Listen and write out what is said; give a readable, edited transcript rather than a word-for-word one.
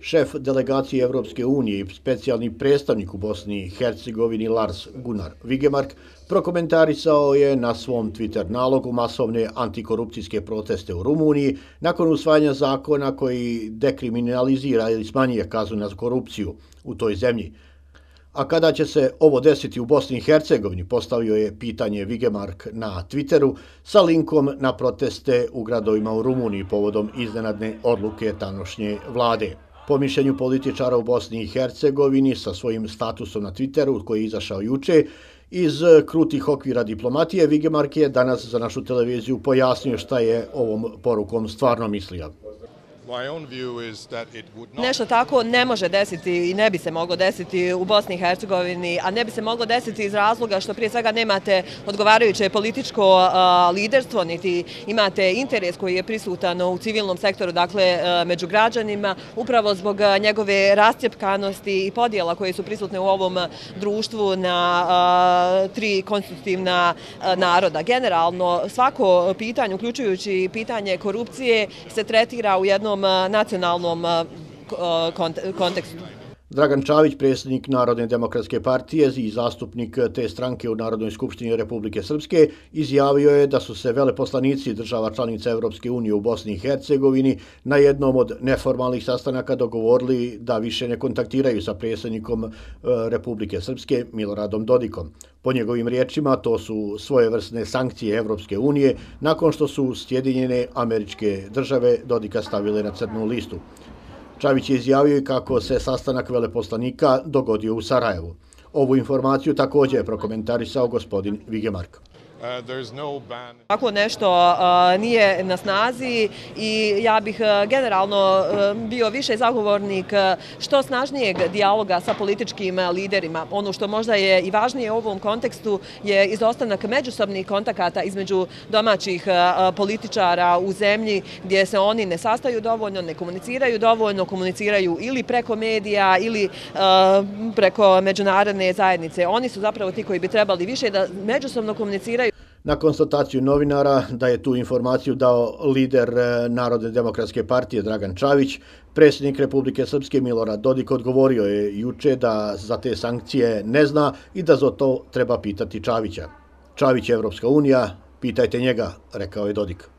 Šef delegacije Evropske unije i specijalni predstavnik u Bosni i Hercegovini Lars Gunnar Vigemark prokomentarisao je na svom Twitter nalogu masovne antikorupcijske proteste u Rumuniji nakon usvajanja zakona koji dekriminalizira ili smanjuje kaznu na korupciju u toj zemlji. A kada će se ovo desiti u Bosni i Hercegovini, postavio je pitanje Vigemark na Twitteru sa linkom na proteste u gradovima u Rumuniji povodom iznenadne odluke tanošnje vlade. Po mišljenju političara u Bosni i Hercegovini sa svojim statusom na Twitteru koji je izašao juče, iz krutih okvira diplomatije, Vigemark je danas za našu televiziju pojasnio šta je ovom porukom stvarno mislio. Nešto tako ne može desiti i ne bi se moglo desiti u Bosni i Hercegovini, a ne bi se moglo desiti iz razloga što prije svega nemate odgovarajuće političko liderstvo, niti imate interes koji je prisutan u civilnom sektoru, dakle među građanima, upravo zbog njegove rascjepkanosti i podjela koje su prisutne u ovom društvu na tri konstitutivna naroda. Generalno, svako pitanje, uključujući pitanje korupcije, se tretira u jednom nacionalnom kontekstu. Dragan Čavić, predsjednik Narodne demokratske partije i zastupnik te stranke u Narodnoj skupštini Republike Srpske, izjavio je da su se veleposlanici država članica Evropske unije u Bosni i Hercegovini na jednom od neformalnih sastanaka dogovorili da više ne kontaktiraju sa predsjednikom Republike Srpske Miloradom Dodikom. Po njegovim riječima, to su svojevrsne sankcije Evropske unije nakon što su Sjedinjene Američke Države Dodika stavile na crnu listu. Čavić je izjavio i kako se sastanak veleposlanika dogodio u Sarajevu. Ovu informaciju također je prokomentarisao gospodin Vigemark. Tako nešto nije na snazi i ja bih generalno bio više zagovornik što snažnijeg dijaloga sa političkim liderima. Ono što možda je i važnije u ovom kontekstu je izostanak međusobnih kontakata između domaćih političara u zemlji gdje se oni ne sastaju dovoljno, ne komuniciraju dovoljno, komuniciraju ili preko medija ili preko međunarodne zajednice. Oni su zapravo ti koji bi trebali više da međusobno komuniciraju. Na konstataciju novinara da je tu informaciju dao lider Narodne demokratske partije Dragan Čavić, predsjednik Republike Srpske Milorad Dodik odgovorio je juče da za te sankcije ne zna i da za to treba pitati Čavića. Čavić je Evropska unija, pitajte njega, rekao je Dodik.